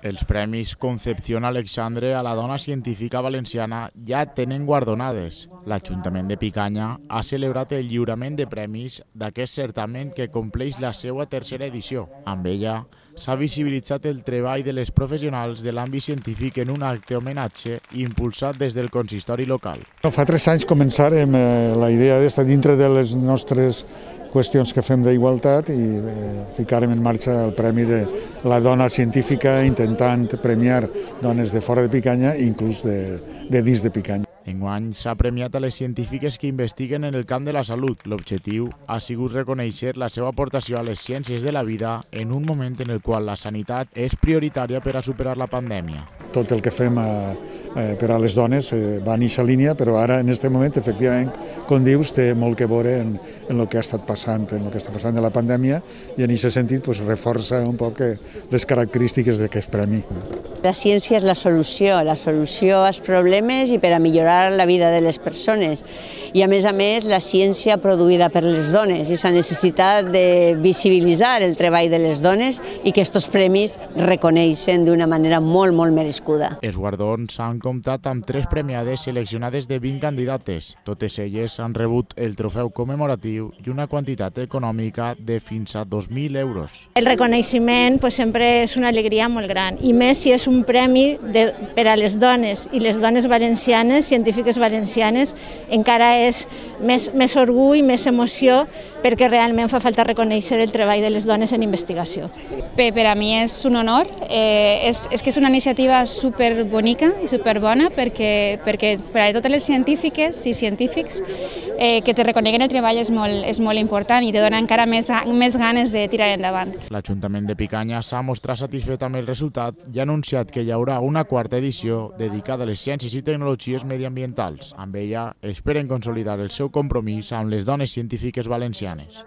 Els premis Concepción Alexandre a la dona científica valenciana ja tenen guardonades. L'Ajuntament de Picanya ha celebrat el lliurament de premis d'aquest certamen que compleix la seva tercera edició. Amb ella s'ha visibilitzat el treball de les professionals de l'àmbit científic en un acte homenatge impulsat des del consistori local. Fa 3 anys començàrem la idea d'estar dintre de les nostres qüestions que fem d'igualtat i ficarem en marxa el Premi de la Dona Científica intentant premiar dones de fora de Picanya i inclús de dins de Picanya. Enguany s'ha premiat a les científiques que investiguen en el camp de la salut. L'objectiu ha sigut reconèixer la seva aportació a les ciències de la vida en un moment en el qual la sanitat és prioritària per a superar la pandèmia. Tot el que fem per a les dones va en aquesta línia, però ara en aquest moment, efectivament, com dius, té molt que veure en el que ha estat passant, en el que està passant de la pandèmia i en aquest sentit reforça un poc les característiques d'aquest premi. La ciència és la solució als problemes i per a millorar la vida de les persones. I a més, la ciència produïda per les dones i la necessitat de visibilitzar el treball de les dones i que aquests premis reconeixen d'una manera molt, molt merescuda. Els guardons han comptat amb 3 premiades seleccionades de 20 candidates. Totes elles han rebut el trofeu commemoratiu i una quantitat econòmica de fins a 2.000 euros. El reconeixement sempre és una alegria molt gran, i més si és un premi per a les dones, i les dones valencianes, científiques valencianes, encara és més orgull, més emoció, perquè realment fa falta reconèixer el treball de les dones en investigació. Per a mi és un honor, és que és una iniciativa superbonica i superbona perquè per a totes les científiques i científics que te reconeguen el treball és molt important i te dona encara més ganes de tirar endavant. L'Ajuntament de Picanya s'ha mostrat satisfet amb el resultat i ha anunciat que hi haurà una 4a edició dedicada a les ciències i tecnologies mediambientals. Amb ella esperen consolidar el seu compromís amb les dones científiques valencianes.